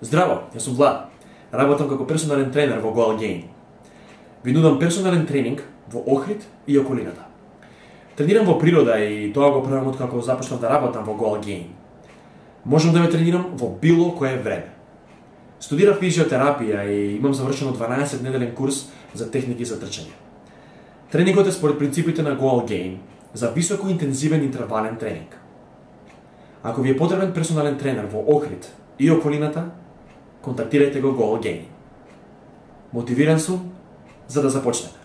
Здраво, јас сум Влад. Работам како персонален тренер во Goal Gain. Ви нудам персонален тренинг во Охрид и околината. Тренирам во природа и тоа го правам откако започнав да работам во Goal Gain. Можам да ве тренирам во било кое време. Студирав физиотерапија и имам завршено 12-неделен курс за техники за трчање. Тренингот е според принципите на Goal Gain за високо интензивен интервален тренинг. Ако ви е потребен персонален тренер во Охрид и околината, контактирајте го Goal Gain. Мотивиран сум за да започнеме.